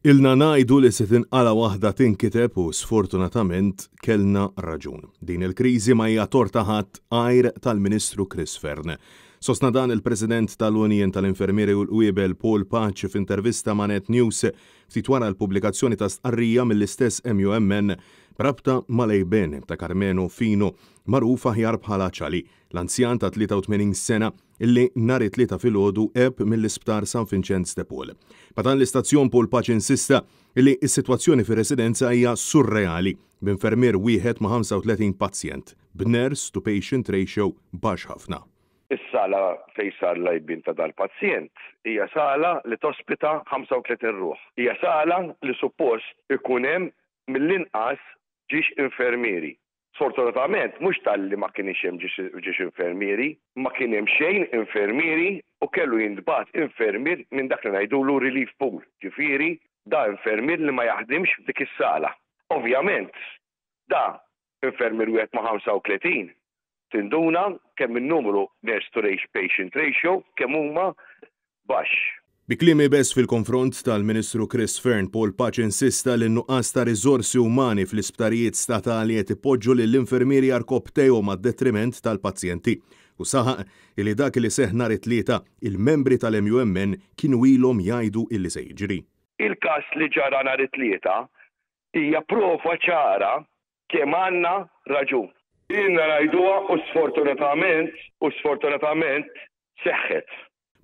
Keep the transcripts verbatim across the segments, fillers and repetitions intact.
Ilna ngħidu li se tinqala waħda tinkiteb u sfortunatament kellna raġun. Din il-kriżi ma hija tort ta' ħadd għajr tal-Ministru Chris Fearne. Sostna dan il-President tal-Union tal-Infermieri u l-Qwiebel Paul Pace f'intervista ma' Net News ftit wara l-pubblikazzjoni ta' stqarrija mill-istess M U M N b'rabta mal-għejbien ta' Carmelo Fino, magħruf aħjar bħala Ċali, l-anzjan ta' tlieta u tmenin sena illi nhar it-Tlieta filgħodu għeb mill-Isptar San Vincenz de Paul. Ma' dan l-istazzjon, Paul Pace insista illi s-sitwazzjoni fir-residenza hija surreali, b'infermier wieħed ma' ħamsa u tletin pazjent, b'nurse to patient ratio baxx ħafna. Is-sala fejn sar l-għejbien ta' dal-pazjent hija sala li tospita ħamsa u tletin ruħ. Hija sala li suppost ikun hemm mill-inqas żewġ infermieri. Sfortunatament, mhux talli ma kienx hemm żewġ infermieri, ma kien hemm xejn infermieri u kellu jintbagħat infermier minn dak li ngħidulu relief pool. Ġifieri, da infermier li ma jaħdimx f'dik is-sala. Ovvjament, da infermier wieħed ma' ħamsa u tletin, tinduna kemm il-numru nurse to patient ratio kemm huma baxx. Bi kliem iebes fil-konfront tal-Ministru Chris Fearne, Paul Pace insista li n-nuqqas ta' riżorsi umani fl-isptarijiet statali qed ipoġġu lill-infermieri għarkopptejhom għad-detriment tal-pazjenti. U saħaq li dak li seħ nhar it-Tlieta, il-membri tal-M U M N kienu ilhom jgħidu illi se jiġri. Il-każ li ġara nhar it-Tlieta hija prova ċara kemm għandna raġun. Ilna ngħiduha u sfortunatament u sfortunatament seħħet.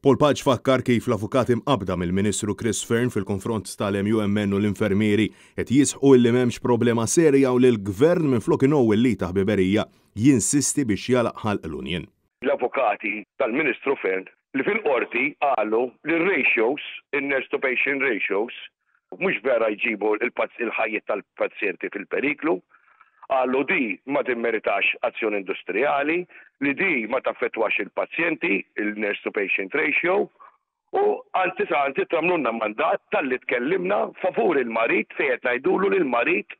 Paul Pace fakkar kif l-avukati mqabda mill-Ministru Chris Fearne fil-konfront tal-M U M N u l-infermieri qed jisħqu illi m'hemmx problema serja u li l-gvern, minflok ingħowi l-id ta' ħbiberija, jinsisti biex jagħlaq ħalq l-union. L-avukati tal-Ministru Fearne li fil-qorti qalu li r-ratios, il-nurse to patient ratios, mhux vera jġibu il-ħajjiet tal-pazjenti fil-periklu, qalu di ma timmeritax azzjoni industrijali, li di ma taffettwax il-pazjenti, il-nurse to patient ratio, u anzi sa anzi tagħmlulna mandat talli tkellimna favur il-marid fejn qed ngħidulu li l-marid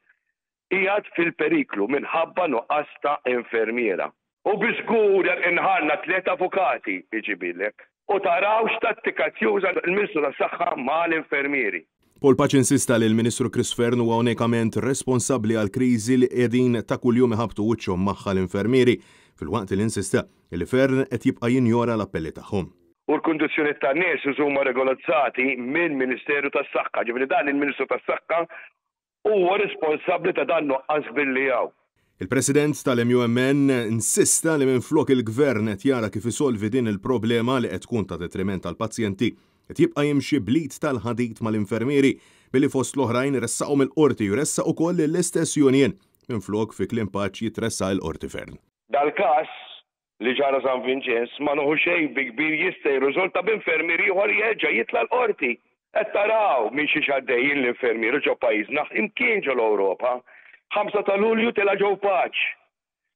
qiegħed fil-periklu minħabba nuqqas ta' infermiera. U biżgur inħarna tliet avukati iġibilek. U taraw x'tattika juża il-Ministru tas-Saħħa mal-infermieri. Paul Pace insista li l-Ministru Chris Fearne huwa unikament responsabbli għal kriżi li qegħdin ta' kuljum iħabtu wiċċhom magħha l-infermieri, filwaqt li insista li Fearne qed jibqa' jinjora l-appelli tagħhom. U l-kundizzjoni tan-nies huma regolarizzati mill-Ministeru tas-Saħħa. Ġifieri dan il-Ministru tas-Saħħa huwa responsabbli ta' dan nuqqas billi hawn. Il-President tal-M U M N insista li minflok il-gvern qed jara kif isolvi din il-problema li qed tkun ta' detriment tal-pazjenti, qed jibqa' jimxi bl-id tal-ħadid mal-infermieri billi fost l-oħrajn ressaqhom il-qorti u ressaq ukoll l-istess union minflok, fi kliem Pace, jitressaq il-qorti Fearne. Dal-każ li ġara San Vincenz ma nieħu xejn bi kbir, jista' jirriżulta b'infermier ieħor jerġa' jitla' l-qorti. Qed taraw minn xi għaddejjin l-infermieri ġo pajjiżna, imkien ġo l-Ewropa. ħamsa ta' Lulju tela' Joe Pace.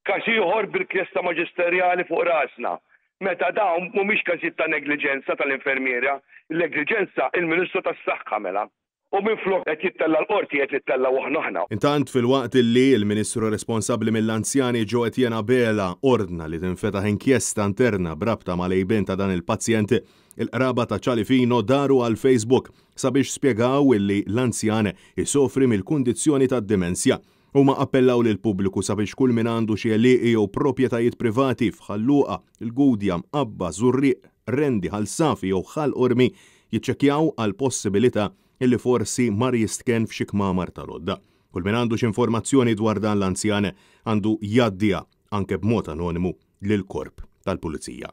Każ ieħor bil-inkjesta maġisterjali fuq rasna. Meta dawn mhumiex każijiet ta' negliġenza tal-infermiera, il-negliġenza il-Ministru tas-Saħħa mela. U minflok qed jittella l-qorti, qed nittella aħna aħna. Intant, filwaqt li il-Ministru responsabbli mill-anzjani Jo Etienne Abela ordna li tinfetaħ inkjesta interna b'rabta mal-għejbien ta' dan il-pazjent, il-qraba ta' Ċali Fino daru għal Facebook sabiex spjegaw illi l-anzjan isofri mill-kundizzjoni ta' dimensja. Huma appellaw lil pubbliku sabiex kull min għandu xi għelieqi jew proprjetajiet privati f'Ħal Luqa, il-Gudja, Mqabba, Żurrieq, Qrendi, Ħal Safi jew Ħal Qormi jiċċekkjaw għal possibilità illi forsi mar jistken f'xi kmamar tal-għodda. Kull min għandu xi informazzjoni dwar dan l-anzjan għandu jgħaddiha anke b'mod anonimu lil korp tal-pulizija.